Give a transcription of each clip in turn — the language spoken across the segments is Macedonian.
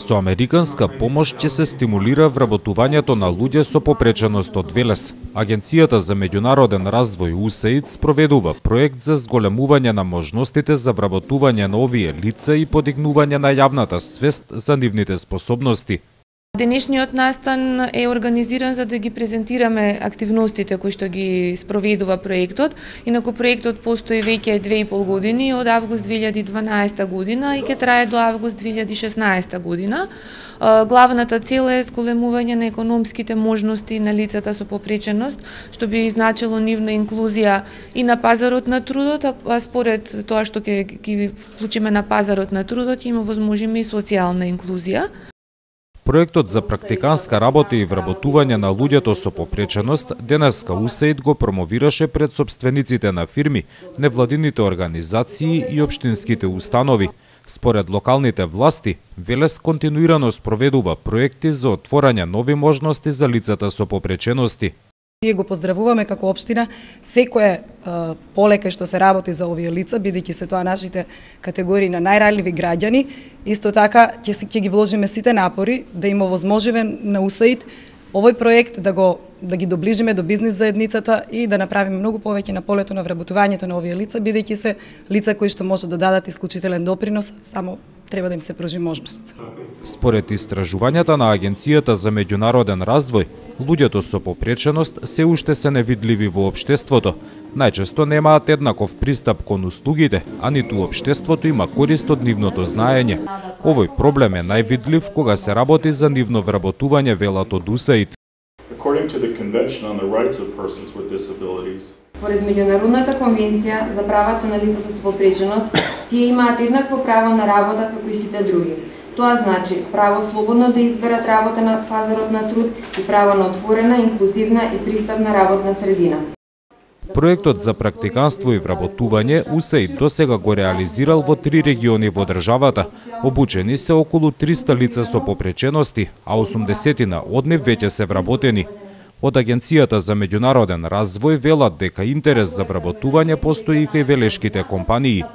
Со американска помош ќе се стимулира вработувањето на луѓе со попреченост од Велес. Агенцијата за меѓународен развој USAID спроведува проект за зголемување на можностите за вработување на овие лица и подигнување на јавната свест за нивните способности. Денешниот настан е организиран за да ги презентираме активностите кои што ги спроведува проектот. Инаку проектот постои веќе 2,5 години, од август 2012 година и ќе трае до август 2016 година. Главната цел е зголемување на економските можности на лицата со попреченост, што би значило нивна инклузија и на пазарот на трудот, а според тоа што ќе ги вклучиме на пазарот на трудот, ќе има возможиме и социјална инклузија. Проектот за практиканска работа и вработување на луѓето со попреченост денеска USAID го промовираше пред сопствениците на фирми, невладините организации и општинските установи. Според локалните власти, Велес континуирано спроведува проекти за отворање нови можности за лицата со попречености. Ние го поздравуваме како општина секое полека што се работи за овие лица, бидејќи се тоа нашите категории на најранливи граѓани. Исто така ќе ги вложиме сите напори да им овозможиме на USAID овој проект да ги доближиме до бизнис заедницата и да направиме многу повеќе на полето на вработувањето на овие лица, бидејќи се лица кои што може да дадат исклучителен допринос, само треба да им се пружи можност. Според истражувањата на Агенцијата за меѓународен развој, луѓето со попреченост се уште се невидливи во општеството. Најчесто немаат еднаков пристап кон услугите, а ниту општеството има корист од нивното знаење. Овој проблем е највидлив кога се работи за нивно вработување, велат од USAID. Според Меѓународната конвенција за правата на лицата со попреченост, тие имаат еднакво право на работа како и сите други. Тоа значи право слободно да изберат работа на пазарот на труд и право на отворена, инклузивна и пристапна работна средина. Проектот за практиканство и вработување USAID досега го реализирал во 3 региони во државата. Обучени се околу 300 лица со попречености, а 80 од нив веќе се вработени. Од Агенцијата за меѓународен развој велат дека интерес за вработување постои и кај велешките компании.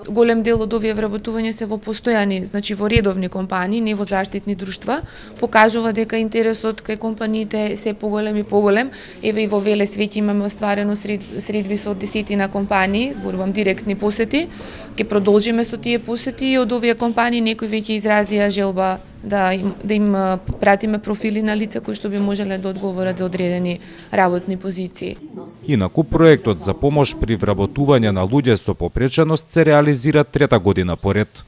Голем дел од овие вработувања се во постојани, значи во редовни компании, не во заштитни друштва, покажува дека интересот кај компаниите се поголем и поголем. Еве и во Велес веќе имаме остварено средби со десетина компании, зборувам директни посети. Ќе продолжиме со тие посети и од овие компании некои веќе изразија желба да им пратиме профили на лица кои што би можеле да одговорат за одредени работни позиции. Инаку проектот за помош при вработување на луѓе со попреченост се реализира 3-та година поред.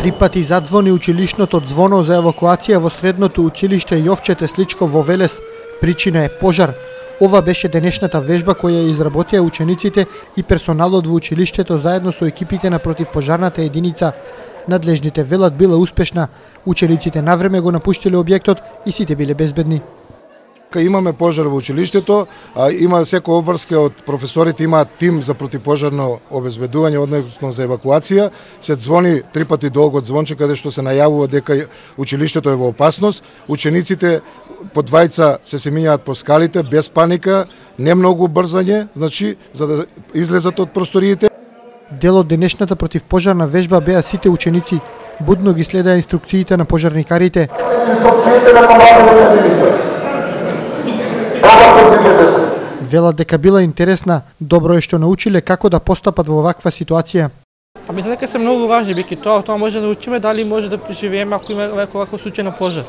Три пати задзвони училишното звоно за евакуација во средното училиште Јовче Тесличко во Велес. Причина е пожар. Ова беше денешната вежба која изработија учениците и персоналот во училиштето заедно со екипите на противпожарната единица. Надлежните велат била успешна. Учениците навреме го напуштиле објектот и сите биле безбедни. Имаме пожар во училиштето, има секој обврска од професорите, имаат тим за противпожарно обезбедување, односно за евакуација. Се звони 3 пати долгот звонче каде што се најавува дека училиштето е во опасност. Учениците по двајца се минјаат по скалите без паника, не многу брзање, значи за да излезат од просториите. Дел од денешната противпожарна вежба беа сите ученици. Будно ги следаа инструкциите на пожарникарите. Инструкциите на командната единица. Велат дека била интересна, добро е што научиле како да постапат во ваква ситуација. Мислам дека се многу важни, беки тоа може да учиме дали може да преживееме ако има ваков случај на пожар.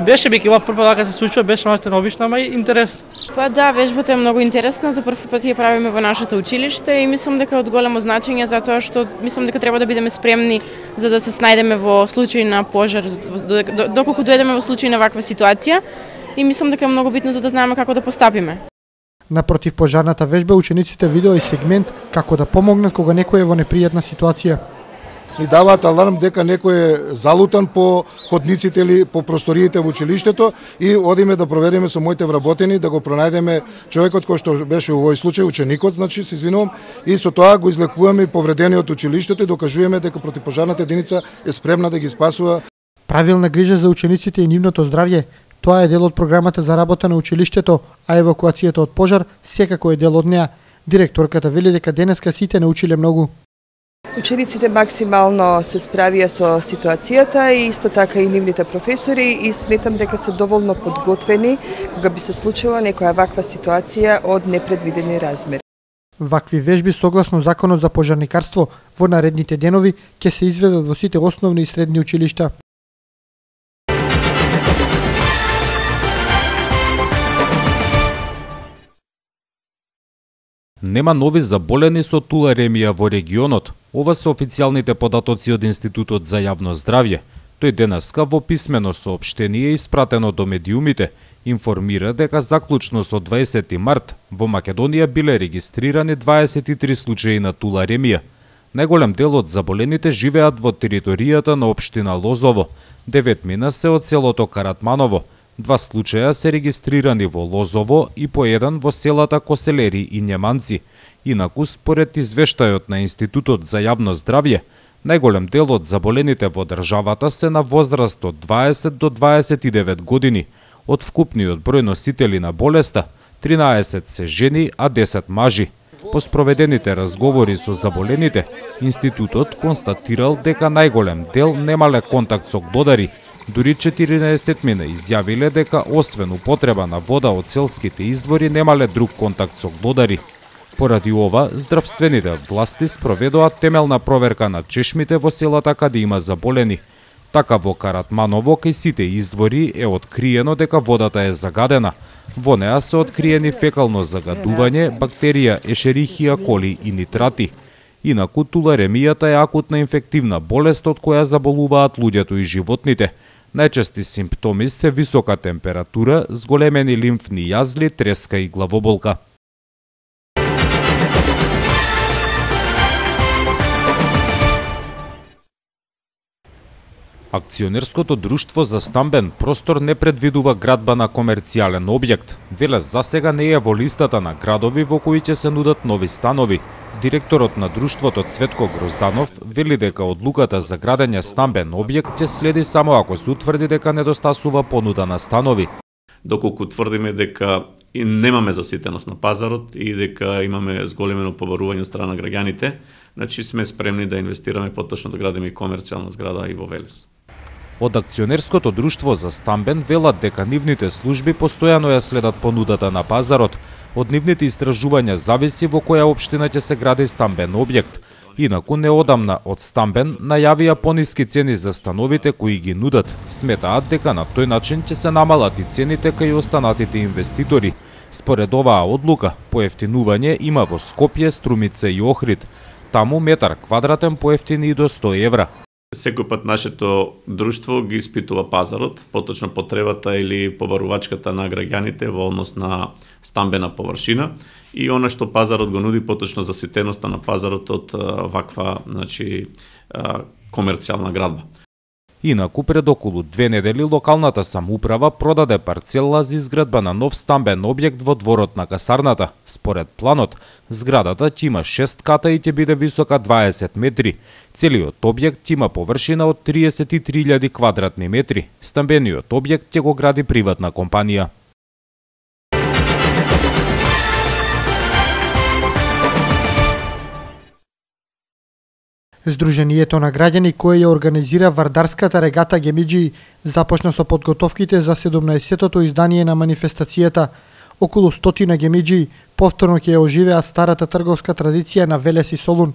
Беше беки ова прва вака се случува, беше малку необично, ама и интересно. Да, вежбата е многу интересна, за прв пат ја правиме во нашето училиште и мислам дека е од големо значење затоа што мислам дека треба да бидеме спремни за да се снајдеме во случај на пожар, доколку дојдеме во случај на ваква ситуација. И мислам дека е многу битно за да знаеме како да постапиме. На противпожарната вежба учениците видео и сегмент како да помогнат кога некој е во непријатна ситуација. Ни даваат аларм дека некој е залутан по ходниците или по просториите во училиштето и одиме да провериме со моите вработени да го пронајдеме човекот кој што беше во овој случај, ученикот, значи се извинувам, и со тоа го излекуваме повредениот училиштето и докажуваме дека противпожарната единица е спремна да ги спасува. Правилна грижа за учениците и нивното здравје Тоа е дел од програмата за работа на училиштето, а евакуацијата од пожар секако е дел од неа. Директорката вели дека денеска сите научиле многу. Учениците максимално се справија со ситуацијата и исто така и нивните професори и сметам дека се доволно подготвени кога би се случила некоја ваква ситуација од непредвидени размери. Вакви вежби согласно Законот за пожарникарство во наредните денови ќе се изведат во сите основни и средни училишта. Нема нови заболени со туларемија во регионот. Ова се официјалните податоци од Институтот за јавно здравје. Тој денеска во писмено соопштение испратено до медиумите информира дека заклучно со 20 март во Македонија биле регистрирани 23 случаи на туларемија. Најголем дел од заболените живеат во територијата на општина Лозово. 9 мина се од селото Каратманово. 2 случаја се регистрирани во Лозово и по еден во селата Коселери и Њеманци. Инаку, според извештајот на Институтот за јавно здравје, најголем дел од заболените во државата се на возраст од 20 до 29 години. Од вкупниот број носители на болеста, 13 се жени, а 10 мажи. По спроведените разговори со заболените, Институтот констатирал дека најголем дел немале контакт со глодари. Дури 14 мина изјавиле дека освен употреба на вода од селските извори немале друг контакт со глодари. Поради ова, здравствените власти спроведоа темелна проверка на чешмите во селата каде има заболени. Така во Каратманово кај сите извори е откриено дека водата е загадена. Во неа се откриени фекално загадување, бактерија Ешерихија коли и нитрати. Инаку туларемијата е акутна инфективна болест од која заболуваат луѓето и животните. Најчести симптоми се висока температура, зголемени лимфни јазли, треска и главоболка. Акционерското друштво за стамбен простор не предвидува градба на комерцијален објект. Веле засега не е во листата на градови во кои ќе се нудат нови станови. Директорот на друштвото Цветко Грозданов вели дека одлуката за градење стамбен објект ќе следи само ако се утврди дека недостасува понуда на станови. Доколку тврдиме дека и немаме заситеност на пазарот и дека имаме зголемено побарување од страна на граѓаните, значи сме спремни да инвестираме поточно да градиме и комерцијална зграда и во Велес. Од акционерското друштво за стамбен велат дека нивните служби постојано ја следат понудата на пазарот. Од нивните истражувања зависи во која општина ќе се гради стамбен објект. Инаку неодамна од стамбен најавија пониски цени за становите кои ги нудат. Сметаат дека на тој начин ќе се намалат и цените кај останатите инвеститори. Според оваа одлука, поевтинување има во Скопје, Струмица и Охрид. Таму метар квадратен поевтини и до 100 евра. Секој пат нашето друштво ги испитува пазарот, поточно потребата или побарувачката на граѓаните во однос на стамбена површина и она што пазарот го нуди, поточно заситеноста на пазарот од ваква, комерцијална градба. Инаку пред околу 2 недели локалната самоуправа продаде парцела за изградба на нов стамбен објект во дворот на касарната. Според планот, зградата ќе има 6 ката и ќе биде висока 20 метри. Целиот објект има површина од 33.000 квадратни метри. Стамбениот објект ќе го гради приватна компанија. Сдруженијето на граѓани кое ја организира Вардарската регата Гемиџи започна со подготовките за 17-тото издание на манифестацијата. Околу 100 гемиџи повторно ќе ја оживеат старата трговска традиција на Велес и Солун.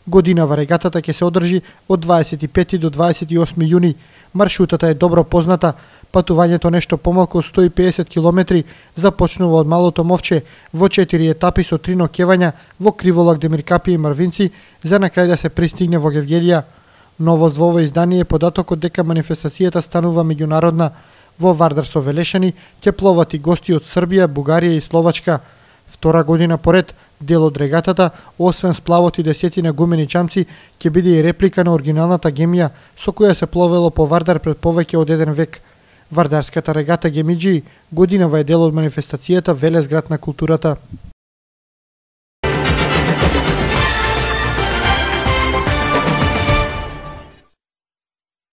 Годинава регатата ќе се одржи од 25 до 28 јуни. Маршрутата е добро позната. Патувањето нешто помалку од 150 километри започнува од Малото Мовче во 4 етапи со 3 ноќевања во Криволак, Демиркапи и Марвинци за на крај да се пристигне во Гевгелија. Новост во ова издание е податокот дека манифестацијата станува меѓународна. Во Вардар со Велешани ќе пловат и гости од Србија, Бугарија и Словачка. Втора година поред, дел од регатата, освен сплавот и десетина гумени чамци, ќе биде и реплика на оригиналната гемија со која се пловело по Вардар пред повеќе од 1 век. Вардарската регата Гемиџи годинава е дел од манифестацијата Велес град на културата.